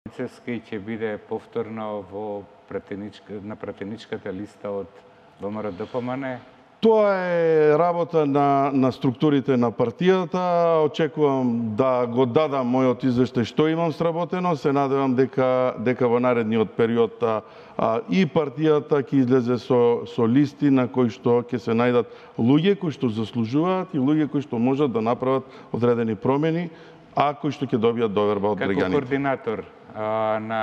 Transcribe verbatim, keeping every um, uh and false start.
Цевски ќе биде повторно во пратеничка, на пратеничката листа од ВМРО-ДПМН? Тоа е работа на, на структурите на партијата. Очекувам да го дадам мојот извештај што имам сработено. Се надевам дека, дека во наредниот период а, и партијата ќе излезе со, со листи на кои што ќе се најдат луѓе кои што заслужуваат и луѓе кои што можат да направат одредени промени, а кои што ќе добијат доверба од граѓаните. Како координатор а, на